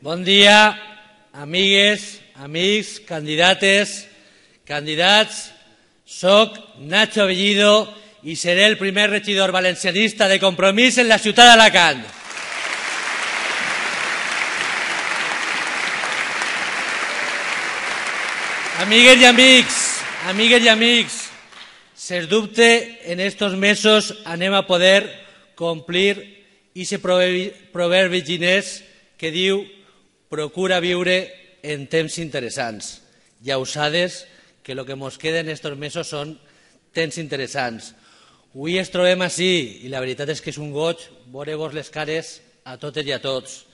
Bon dia, amigues, amics, candidates, candidats. Soc Nacho Bellido i seré el primer regidor valencianista de Compromís en la ciutat d'Alacant. Amigues i amics, sens dubte, en estos mesos anem a poder complir ese proverbi xinès que diu procura viure en temps interessants. Ja ho sabes que el que ens queda en estos mesos són temps interessants. Avui ens trobem així i la veritat és que és un goig veure-vos les cares a totes i a tots.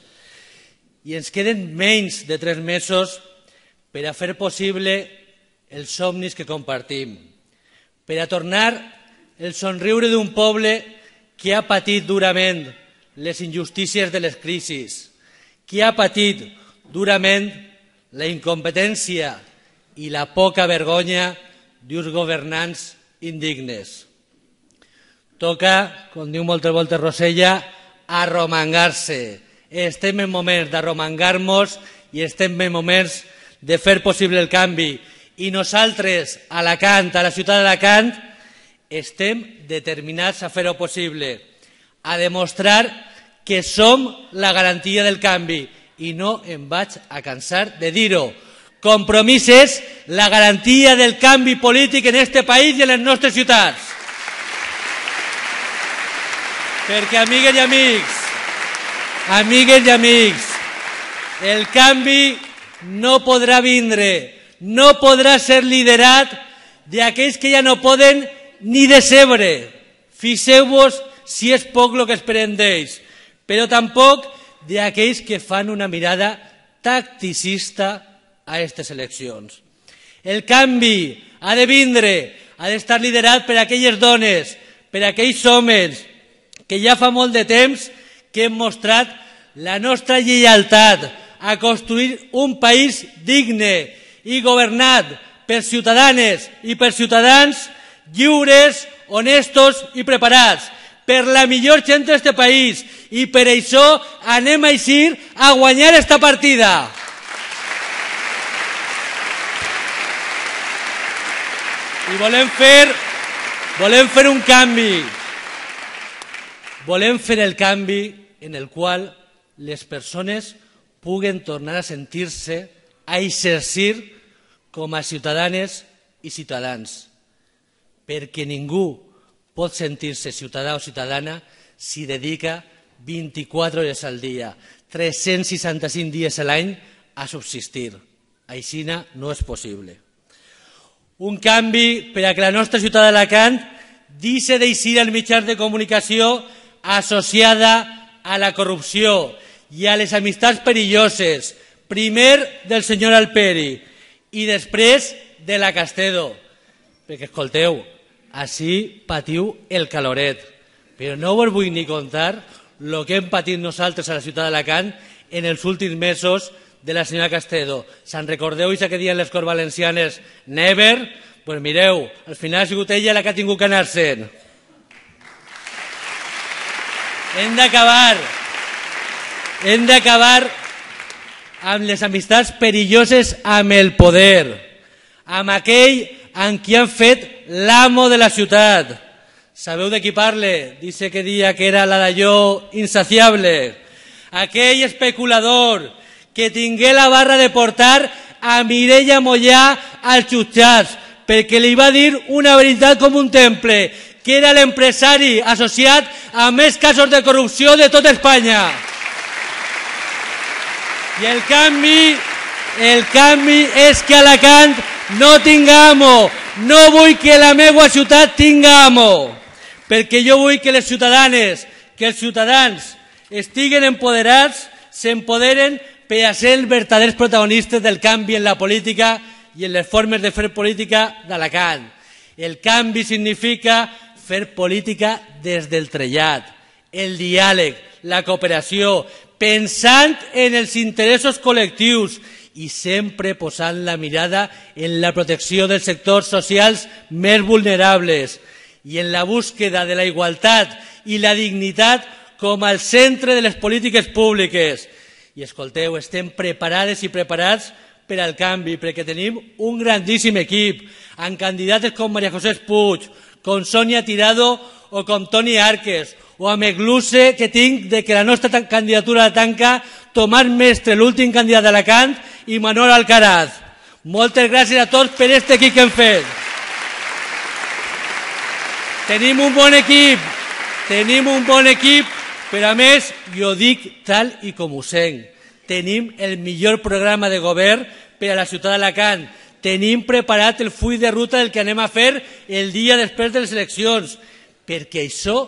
I ens queden menys de 3 mesos per a fer possible els somnis que compartim, per a tornar el somriure d'un poble que ha patit durament les injustícies de les crisis, que ha patit durament la incompetència i la poca vergonya d'uns governants indignes. Toca, com diu moltes voltes Rosella, arromangar-se. Estem en moments d'arromangar-nos i estem en moments de fer possible el canvi. I nosaltres, a Alacant, a la ciutat d'Alacant, estem determinats a fer-ho possible, a demostrar que som la garantia del canvi. I no em vaig a cansar de dir-ho. Compromís és la garantia del canvi polític en este país i en les nostres ciutats. Perquè, amigues i amics, el canvi no podrà vindre, no podrà ser liderat d'aquells que ja no poden ni decebre. Fixeu-vos si és poc el que esperem d'ells, però tampoc d'aquells que fan una mirada tacticista a aquestes eleccions. El canvi ha de vindre, ha d'estar liderat per aquelles dones, per aquells homes que ja fa molt de temps que hem mostrat la nostra lleialtat a construir un país digne i governat per ciutadanes i per ciutadans lliures, honestos i preparats, per la millor gent d'aquest país, i per això anem a eixir a guanyar esta partida. I volem fer un canvi. Volem fer el canvi en el qual les persones puguen tornar a sentir-se, a exercir com a ciutadanes i ciutadans, perquè ningú pot sentir-se ciutadà o ciutadana si dedica 24 hores al dia, 365 dies a l'any a subsistir. Així no és possible. Un canvi per a que la nostra ciutat d'Alacant deixi d'eixir als mitjans de comunicació associada a la corrupció i a les amistats perilloses, primer del senyor Alperi i després de la Castedo. Perquè, escolteu, així patiu el caloret, però no us vull ni contar el que hem patit nosaltres a la ciutat d'Alacant en els últims mesos de la senyora Castedo. Se'n recordeu això que diuen les Corts Valencianes? Never? Doncs mireu, al final ha sigut ella la que ha tingut que anar-se'n. Hem d'acabar amb les amistats perilloses amb el poder, amb aquell amb qui han fet l'amo de la ciutat. Sabeu de qui parle? Dice que dia que era la d'allò insaciable. Aquell especulador que tingué la barra de portar a Mireia Mollà als jutjats perquè li va dir una veritat com un temple, que era l'empresari associat a més casos de corrupció de tota Espanya. I el canvi és que Alacant no tinga amo. No vull que la meva ciutat tinga amo, perquè jo vull que les ciutadanes, que els ciutadans estiguen empoderats, s'empoderen per a ser els verdaders protagonistes del canvi en la política i en les formes de fer política d'Alacant. El canvi significa fer política des del trellat, el diàleg, la cooperació, pensant en els interessos col·lectius i sempre posant la mirada en la protecció dels sectors socials més vulnerables i en la búsqueda de la igualtat i la dignitat com al centre de les polítiques públiques. I escolteu, estem preparades i preparats per al canvi, perquè tenim un grandíssim equip, amb candidates com Maria José Puig, com Sònia Tirado o com Toni Arques, o amb el gluse que tinc de que la nostra candidatura la tanca Tomàs Mestre, l'últim candidat d'Alacant, i Manuel Alcaraz. Moltes gràcies a tots per aquest equip que hem fet. Tenim un bon equip, però a més, jo dic tal i com ho sent. Tenim el millor programa de govern per a la ciutat d'Alacant. Tenim preparat el full de ruta del que anem a fer el dia després de les eleccions, perquè això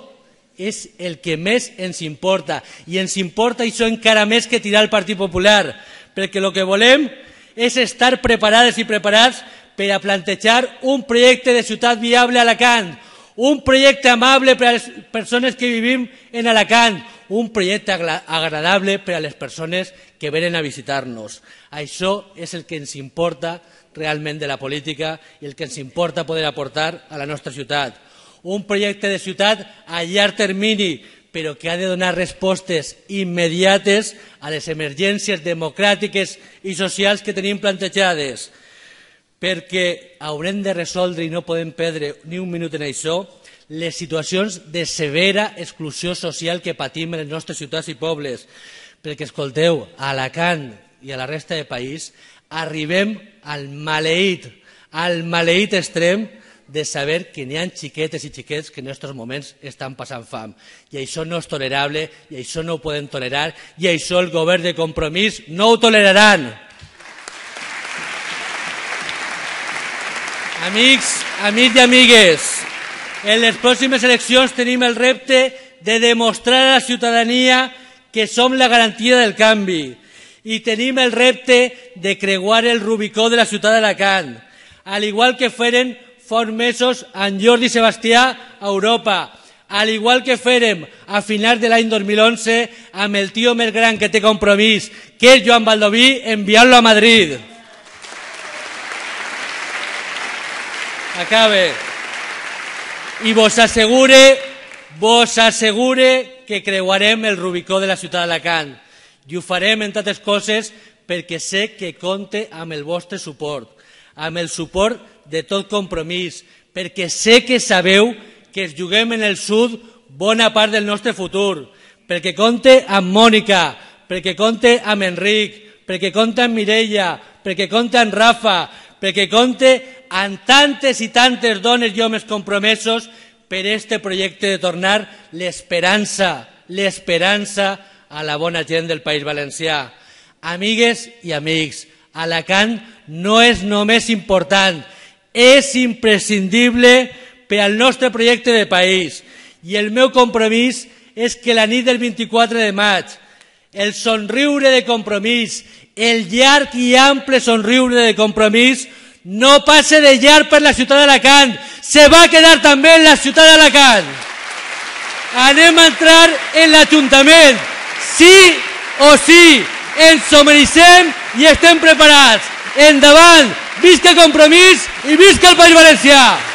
és el que més ens importa. I ens importa això encara més que tirar el Partit Popular, perquè el que volem és estar preparades i preparats per a plantejar un projecte de ciutat viable a Alacant, un projecte amable per a les persones que vivim en Alacant, un projecte agradable per a les persones que venen a visitar-nos. Això és el que ens importa realment de la política i el que ens importa poder aportar a la nostra ciutat. Un projecte de ciutat a llarg termini, però que ha de donar respostes immediates a les emergències democràtiques i socials que tenim plantejades, perquè haurem de resoldre, i no podem perdre ni un minut en això, les situacions de severa exclusió social que patim en les nostres ciutats i pobles. Perquè, escolteu, a Alacant i a la resta del país arribem al maleït extrem de saber que n'hi ha xiquetes i xiquets que en aquests moments estan passant fam. I això no és tolerable, i això no ho podem tolerar, i això el govern de Compromís no ho toleraran. Amics i amigues, en les pròximes eleccions tenim el repte de demostrar a la ciutadania que som la garantia del canvi i tenim el repte de creuar el Rubicó de la ciutat d'Alacant, al igual que feren fa uns mesos en Jordi Sebastià a Europa, al igual que fèrem a finals de l'any 2011 amb el tio més gran que té Compromís, que és Joan Baldoví, enviant-lo a Madrid. Acabe. I vos assegure que creuarem el Rubicó de la ciutat d'Alacant. I ho farem, entre altres coses, perquè sé que compte amb el vostre suport, amb el suport de tot Compromís, perquè sé que sabeu que ens juguem en el sud bona part del nostre futur, perquè compte amb Mònica, perquè compte amb Enric, perquè compte amb Mireia, perquè compte amb Rafa, perquè compte amb tantes i tantes dones i homes compromesos per este projecte de tornar l'esperança a la bona gent del País Valencià. Amigues i amics, Alacant no és només important, és imprescindible per al nostre projecte de país. I el meu compromís és que la nit del 24 de maig, el somriure de Compromís, el llarg i ample somriure de Compromís, no passe de llarg per la ciutat d'Alacant, se va quedar també en la ciutat d'Alacant. Anem a entrar en l'Ajuntament, sí o sí, ens ho mereixem i estem preparats. Endavant, visca Compromís i visca el País Valencià!